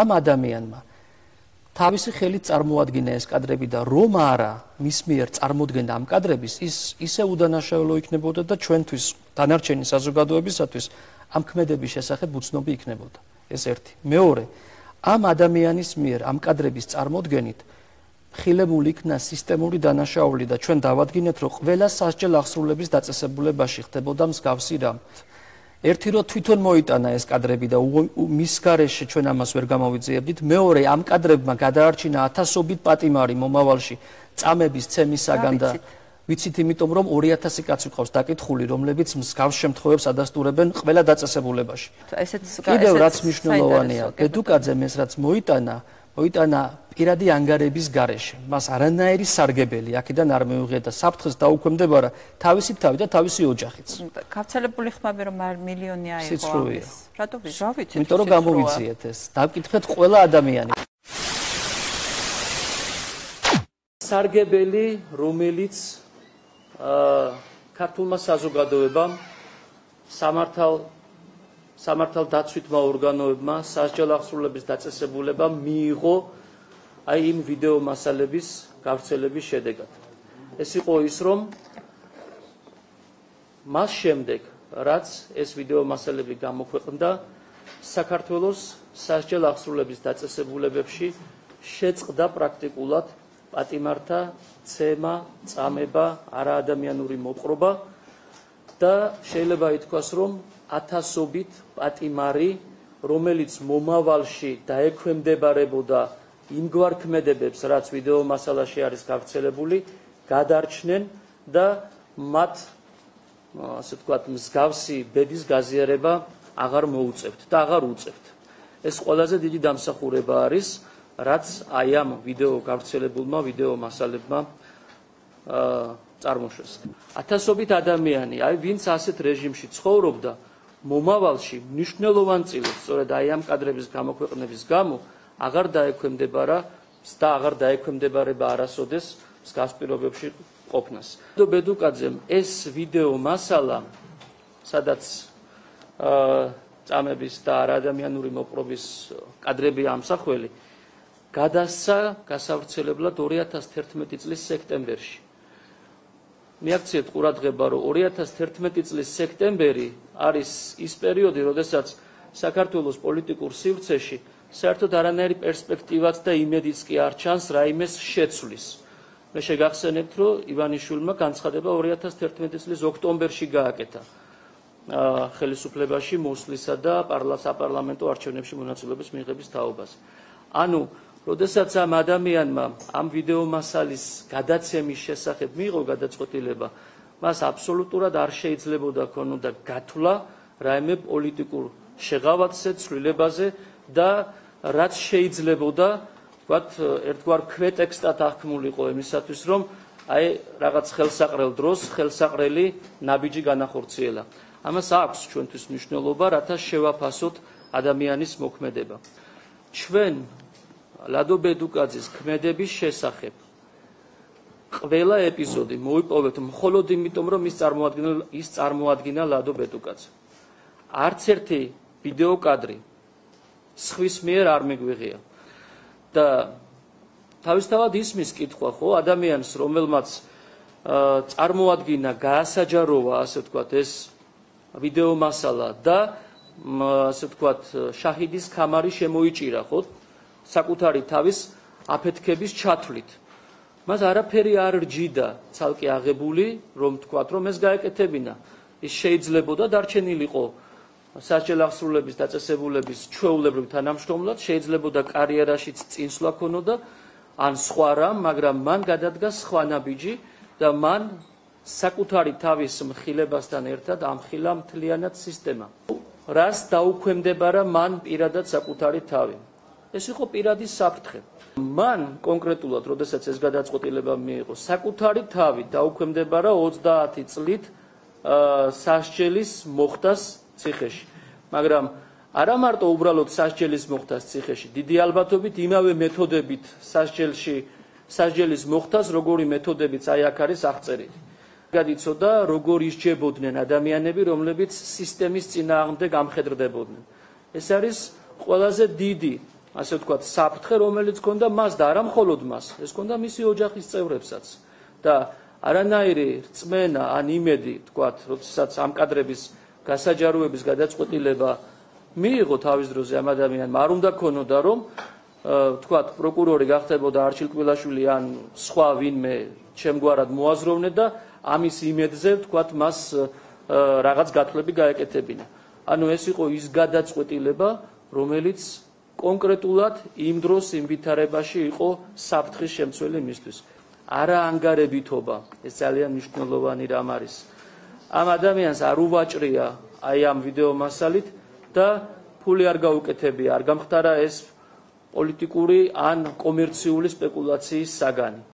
ამ ადამიანმა თავისი ხელით წარმოადგინა ეს კადრები და რომ არა მის მიერ წარმოდგენა ამ კადრების ის ისე უდანაშაულო იქნებოდა და ჩვენთვის დანარჩენი საზოგადოებისათვის ამ ქმედების შესახებ უცნობი იქნებოდა. ეს ერთი. მეორე, ამ ადამიანის მიერ ამ კადრების წარმოდგენით ხილებული იქნა სისტემური დანაშაული და ჩვენ დავადგინეთ, რომ ყველა სასჯელ აღსრულების დაწესებულებაში ხდებოდა მსგავსი რამ. ერთი რომ თვითონ მოიტანა ეს კადრები და მის გარეშე ჩვენ ამას ვერ გამოვიძიებდით. მეორე, ამ კადრებმა გადაარჩინა ათასობით პატიმარი მომავალში წამების ცემისაგან და ვიცით, იმიტომ რომ 2000 კაცი ყავს დაკითხული, რომლებიც მსგავს შემთხვევებს ადასტურებენ ყველა დაწესებულებაში. კიდევ რაც მნიშვნელოვანია, ბედუკაძემ ეს რაც მოიტანა პირადი ანგარების გარეშე. მას არანაირი სარგებელი აქედან არ მიუღია და საფრთხეს დაუქვემდებარა თავისი თავი და თავისი ოჯახიც. გავრცელებული ხმები რომ მილიონი აიღო ამის. რატო ვიცით? იმიტომ რომ გამოვიძიეთ ეს. დავკითხეთ ყველა ადამიანი. სარგებელი, რომელიც ქართულმა საზოგადოებამ სამართალ დაცვითმა ორგანოებმა სასჯელ აღსრულების დაწესებულება მიიღო აი იმ ვიდეო მასალების გავრცელების შედეგად. ეს იყო ის, რომ მას შემდეგ, რაც ეს ვიდეო მასალები გამოქვეყნდა, საქართველოს სასჯელ აღსრულების დაწესებულებებში შეწყდა პრაქტიკულად პატიმართა ცემა, წამება, არაადამიანური მოპყრობა და შეიძლება ითქვას, რომ ათასობით პატიმარი, რომელიც მომავალში დაექვემდებარებოდა იმგვარ ქმედებებს, რაც ვიდეო მასალაში არის გავრცელებული, გადარჩნენ და მათ, ასე ვთქვათ, მსგავსი ბედის გაზიარება აღარ მოუწევთ და აღარ უწევთ. ეს ყველაზე დიდი დამსახურება არის, რაც აი ამ ვიდეო გავრცელებულმა ვიდეო მასალებმა წარმოშვეს. ათასობით ადამიანი, აი ვინც ასეთ რეჟიმში ცხოვრობდა, მომავალში მნიშვნელოვან წილებს, სწორედ აი ამ კადრების გამოქვეყნების გამო აღარ დაექვემდებარა და აღარ დაექვემდებარება არასოდეს მსგავს პირობებში ყოფნას. ბედუკაძემ ეს ვიდეო მასალა, სადაც წამების და არაადამიანური მოპყრობის კადრები ამსახველი, გადასცა გასავრცელებლად 2011 წლის სექტემბერში. მიაქციეთ ყურადღება, რომ 2011 წლის სექტემბერი არის ის პერიოდი, როდესაც საქართველოს პოლიტიკურ სივრცეში საერთოდ არანაირი პერსპექტივაც და იმედიც კი არ ჩანს რაიმეს შეცვლის. მე შეგახსენებთ, რომ ივანიშვილმა განცხადება 2011 წლის ოქტომბერში გააკეთა ხელისუფლებაში მოსვლისა და საპარლამენტო არჩევნებში მონაწილეობის მიღების თაობაზე. ანუ როდესაც ამ ადამიანმა ამ ვიდეო მასალის გადაცემის შესახებ მიიღო გადაწყვეტილება, მას აბსოლუტურად არ შეიძლებოდა ქონოდა გათვლა რაიმე პოლიტიკურ შეღავათზე, ცვლილებაზე და რაც შეიძლებოდა, ვთქვათ, ერთგვარ ქვეტექსტად აღქმულიყო იმისათვის, რომ აი რაღაც ხელსაყრელ დროს ხელსაყრელი ნაბიჯი განახორციელა. ამას აქვს ჩვენთვის მნიშვნელობა, რათა შევაფასოთ ადამიანის მოქმედება. ჩვენ ლადო ბედუკაძის ქმედების შესახებ ყველა ეპიზოდი მოიპოვეთ მხოლოდ იმიტომ, რომ ის წარმოადგინა ლადო ბედუკაძე. არც ერთი ვიდეო კადრი სხვის მიერ არ მიგვიღია. და თავისთავად ისმის კითხვა, ხო, ადამიანს, რომელმაც წარმოადგინა, გაასაჯაროვა, ასე ვთქვათ, ეს ვიდეო მასალა და ასე ვთქვათ, შაჰიდის ქამარი შემოიჭირა, ხო, საკუთარი თავის აფეთქების ჩათვლით. მას არაფერი არ რჯიდა ცალკე აღებული, რომ ვთქვათ, რომ ეს გაეკეთებინა. ის შეიძლებოდა დარჩენილიყო სასჯელ აღსრულების დაწესებულების ჩვეულებრივ თანამშრომლად, შეიძლებოდა კარიერაშიც წინსვლა ქონოდა, ან სხვა რამ, მაგრამ მან გადადგა სხვა ნაბიჯი და მან საკუთარი თავის მხილებასთან ერთად ამხილა მთლიანად სისტემა. რას დაუქვემდებარა მან პირადად საკუთარი თავი? ეს იყო პირადი საფრთხე. მან კონკრეტულად, როდესაც ეს გადაწყვეტილება მიიღო, საკუთარი თავი დაუქვემდებარა 30 წლით სასჯელის მოხდას ციხეში. მაგრამ არა მარტო უბრალოდ სასჯელის მოხდას ციხეში, დიდი ალბათობით იმავე მეთოდებით სასჯელის მოხდას, როგორი მეთოდებიც აი აქ არის აღწერილი. გადიცოდა, როგორ ისჯებოდნენ ადამიანები, რომლებიც სისტემის წინააღმდეგ ამხედრდებოდნენ. ეს არის ყველაზე დიდი ასე ვთქვათ, საფრთხე, რომელიც ჰქონდა მას და არა მხოლოდ მას, ეს ჰქონდა მისი ოჯახის წევრებსაც. და არანაირი რწმენა ან იმედი, ვთქვათ, როდესაც ამ კადრების გასაჯაროების გადაწყვეტილება მიიღო თავის დროზე ამ ადამიანმა, არ უნდა ქონოდა, რომ ვთქვათ, პროკურორი გახდებოდა არჩილ კბილაშვილი ან სხვა ვინმე ჩემგვარად მოაზროვნე და ამის იმედზე, ვთქვათ, მას რაღაც გათვლები გაეკეთებინა. ანუ ეს იყო ის გადაწყვეტილება, რომელიც კონკრეტულად იმ დროს იმ ვითარებაში იყო საფრთხის შემცველი მისთვის. არა ანგარებითობა, ეს ძალიან მნიშვნელოვანი რამ არის. ამ ადამიანს არ უვაჭრია აი ამ ვიდეო მასალით და ფული არ გაუკეთებია, არ გამხდარა ეს პოლიტიკური ან კომერციული სპეკულაციის საგანი.